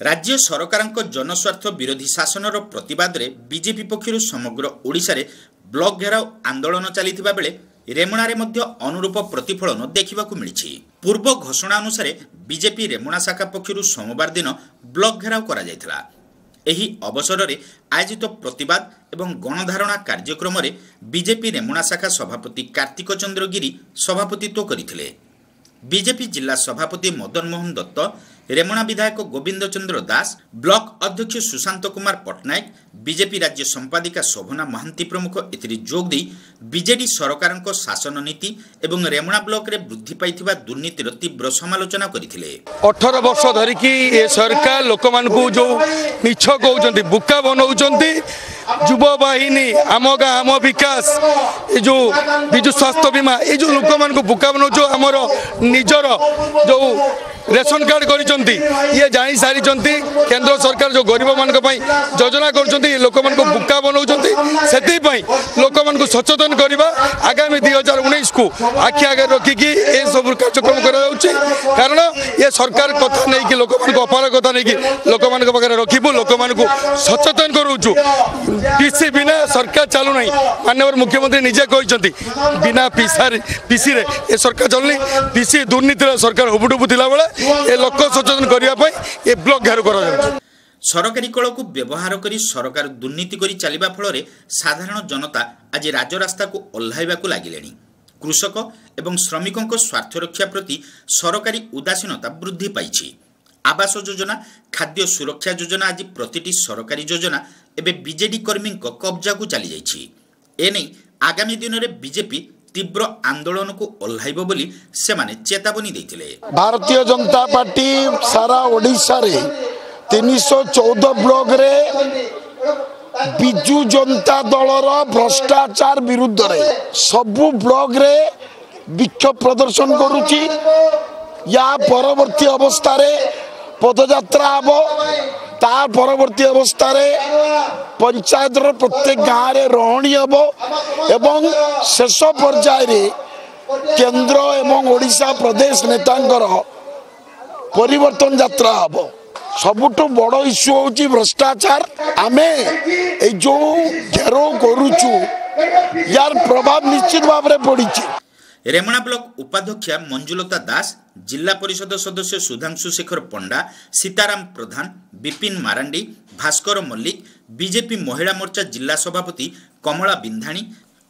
ରାଜ୍ୟ ସରକାରଙ୍କ ଜନସ୍ୱାର୍ଥ ବିରୋଧୀ ଶାସନର ପ୍ରତିବାଦରେ ବିଜେପି ପକ୍ଷରୁ ସମଗ୍ର ଓଡ଼ିଶାରେ ବ୍ଲକ ଘେରାଉ ଆନ୍ଦୋଳନ ଚାଲିଥିବା ବେଳେ ରେମୁଣାରେ ମଧ୍ୟ ଅନୁରୂପ ପ୍ରତିଫଳନ ଦେଖିବାକୁ ମିଳିଛି। ପୂର୍ବ ଘୋଷଣା ଅନୁସାରେ ବିଜେପି ରେମୁଣା ଶାଖା ପକ୍ଷରୁ ସୋମବାର ଦିନ ବ୍ଲକ ଘେରାଉ କରାଯାଇଥିଲା। ଏହି ଅବସରରେ ଆୟୋଜିତ ପ୍ରତିବାଦ ଏବଂ ଗଣଧାରଣା କାର୍ଯ୍ୟକ୍ରମରେ ବିଜେପି ରେମୁଣା ଶାଖା ସଭାପତି କାର୍ତ୍ତିକ ଚନ୍ଦ୍ର ଗିରି ସଭାପତିତ୍ୱ କରିଥିଲେ। ବିଜେପି ଜିଲ୍ଲା ସଭାପତି ମଦନ ମୋହନ ଦତ୍ତ, ରେମୁଣା ବିଧାୟକ ଗୋବିନ୍ଦ ଚନ୍ଦ୍ର ଦାସ, ବ୍ଲକ ଅଧ୍ୟକ୍ଷ ସୁଶାନ୍ତ କୁମାର ପଟ୍ଟନାୟକ, ବିଜେପି ରାଜ୍ୟ ସମ୍ପାଦିକା ଶୋଭନା ମହାନ୍ତି ପ୍ରମୁଖ ଏଥିରେ ଯୋଗ ଦେଇ ବିଜେଡି ସରକାରଙ୍କ ଶାସନ ନୀତି ଏବଂ ରେମୁଣା ବ୍ଲକରେ ବୃଦ୍ଧି ପାଇଥିବା ଦୁର୍ନୀତିର ତୀବ୍ର ସମାଲୋଚନା କରିଥିଲେ। 18 ବର୍ଷ ଧରିକି ଏ ସରକାର ଲୋକମାନଙ୍କୁ ଯେଉଁ ମିଛ କହୁଛନ୍ତି, ବୁକା ବନାଉଛନ୍ତି, ଯୁବବାହିନୀ, ଆମ ଗାଁ ଆମ ବିକାଶ, ଏ ଯେଉଁ ବିଜୁ ସ୍ୱାସ୍ଥ୍ୟ ବୀମା, ଏ ଯେଉଁ ଲୋକମାନଙ୍କୁ ବୁକା ବନାଉଛୁ, ଆମର ନିଜର ଯେଉଁ ରେସନ କାର୍ଡ଼ କରିଛନ୍ତି, ଇଏ ଜାଣି ସାରିଛନ୍ତି କେନ୍ଦ୍ର ସରକାର ଯେଉଁ ଗରିବମାନଙ୍କ ପାଇଁ ଯୋଜନା କରୁଛନ୍ତି, ଲୋକମାନଙ୍କୁ ବୁକା ବନାଉଛନ୍ତି। ସେଥିପାଇଁ ଲୋକମାନଙ୍କୁ ସଚେତନ କରିବା ଆଗାମୀ 2019କୁ ଆଖି ଆଗରେ ରଖିକି ଏସବୁ କାର୍ଯ୍ୟକ୍ରମ କରାଯାଉଛି। କାରଣ ଏ ସରକାର କଥା ନେଇକି ଲୋକମାନଙ୍କୁ ଅପାରଗତା ନେଇକି ଲୋକମାନଙ୍କ ପାଖରେ ରଖିବୁ, ଲୋକମାନଙ୍କୁ ସଚେତନ କରୁଛୁ। ପିସି ବିନା ସରକାର ଚାଲୁନାହିଁ। ମାନ୍ୟବର ମୁଖ୍ୟମନ୍ତ୍ରୀ ନିଜେ କହିଛନ୍ତି ବିନା ପିସାରେ ପିସିରେ ଏ ସରକାର ଚାଲୁନି। ପିସି ଦୁର୍ନୀତିରେ ସରକାର ହୁବୁଡୁବୁ ଥିଲାବେଳେ ଏ ଲୋକ ସଚେତନ କରିବା ପାଇଁ ଏ ବ୍ଲକ ଘେରାଉ କରାଯାଉଛି। ସରକାରୀ କଳକୁ ବ୍ୟବହାର କରି ସରକାର ଦୁର୍ନୀତି କରି ଚାଲିବା ଫଳରେ ସାଧାରଣ ଜନତା ଆଜି ରାଜରାସ୍ତାକୁ ଓହ୍ଲାଇବାକୁ ଲାଗିଲେଣି। କୃଷକ ଏବଂ ଶ୍ରମିକଙ୍କ ସ୍ୱାର୍ଥ ରକ୍ଷା ପ୍ରତି ସରକାରୀ ଉଦାସୀନତା ବୃଦ୍ଧି ପାଇଛି। ଆବାସ ଯୋଜନା, ଖାଦ୍ୟ ସୁରକ୍ଷା ଯୋଜନା ଆଜି ପ୍ରତିଟି ସରକାରୀ ଯୋଜନା ଏବେ ବିଜେଡି କର୍ମୀଙ୍କ କବ୍ଜାକୁ ଚାଲିଯାଇଛି। ଏନେଇ ଆଗାମୀ ଦିନରେ ବିଜେପି ତୀବ୍ର ଆନ୍ଦୋଳନକୁ ଓହ୍ଲାଇବ ବୋଲି ସେମାନେ ଚେତାବନୀ ଦେଇଥିଲେ। ଭାରତୀୟ ଜନତା ପାର୍ଟି ସାରା ଓଡ଼ିଶାରେ 314 ବ୍ଲକରେ ବିଜୁ ଜନତା ଦଳର ଭ୍ରଷ୍ଟାଚାର ବିରୁଦ୍ଧରେ ସବୁ ବ୍ଲକରେ ବିକ୍ଷୋଭ ପ୍ରଦର୍ଶନ କରୁଛି। ୟା ପରବର୍ତ୍ତୀ ଅବସ୍ଥାରେ ପଦଯାତ୍ରା ହେବ, ତା ପରବର୍ତ୍ତୀ ଅବସ୍ଥାରେ ପଞ୍ଚାୟତର ପ୍ରତ୍ୟେକ ଗାଁରେ ରହଣି ହେବ ଏବଂ ଶେଷ ପର୍ଯ୍ୟାୟରେ କେନ୍ଦ୍ର ଏବଂ ଓଡ଼ିଶା ପ୍ରଦେଶ ନେତାଙ୍କର ପରିବର୍ତ୍ତନ ଯାତ୍ରା ହେବ। ସବୁଠୁ ବଡ଼ ଇସ୍ୟୁ ହେଉଛି ଭ୍ରଷ୍ଟାଚାର। ଆମେ ଏଇ ଯେଉଁ ଘେରାଉ କରୁଛୁ ୟାର ପ୍ରଭାବ ନିଶ୍ଚିତ ଭାବରେ ପଡ଼ିଛି। ରେମଣା ବ୍ଲକ ଉପାଧ୍ୟକ୍ଷା ମଞ୍ଜୁଲତା ଦାସ, ଜିଲ୍ଲା ପରିଷଦ ସଦସ୍ୟ ସୁଧାଂଶୁ ଶେଖର ପଣ୍ଡା, ସୀତାରାମ ପ୍ରଧାନ, ବିପିନ ମାରାଣ୍ଡି, ଭାସ୍କର ମଲ୍ଲିକ, ବିଜେପି ମହିଳା ମୋର୍ଚ୍ଚା ଜିଲ୍ଲା ସଭାପତି କମଳା ବିନ୍ଧାଣୀ,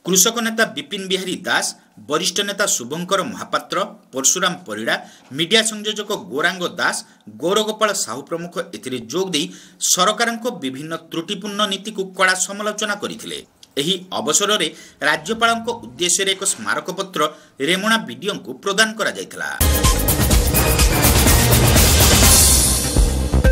କୃଷକ ନେତା ବିପିନ ବିହାରୀ ଦାସ, ବରିଷ୍ଠ ନେତା ଶୁଭଙ୍କର ମହାପାତ୍ର, ପରଶୁରାମ ପରିଡ଼ା, ମିଡିଆ ସଂଯୋଜକ ଗୌରାଙ୍ଗ ଦାସ, ଗୌରଗୋପାଳ ସାହୁ ପ୍ରମୁଖ ଏଥିରେ ଯୋଗ ଦେଇ ସରକାରଙ୍କ ବିଭିନ୍ନ ତ୍ରୁଟିପୂର୍ଣ୍ଣ ନୀତିକୁ କଡ଼ା ସମାଲୋଚନା କରିଥିଲେ। ଏହି ଅବସରରେ ରାଜ୍ୟପାଳଙ୍କ ଉଦ୍ଦେଶ୍ୟରେ ଏକ ସ୍ମାରକପତ୍ର ରେମୁଣା ବିଡିଓଙ୍କୁ ପ୍ରଦାନ କରାଯାଇଥିଲା।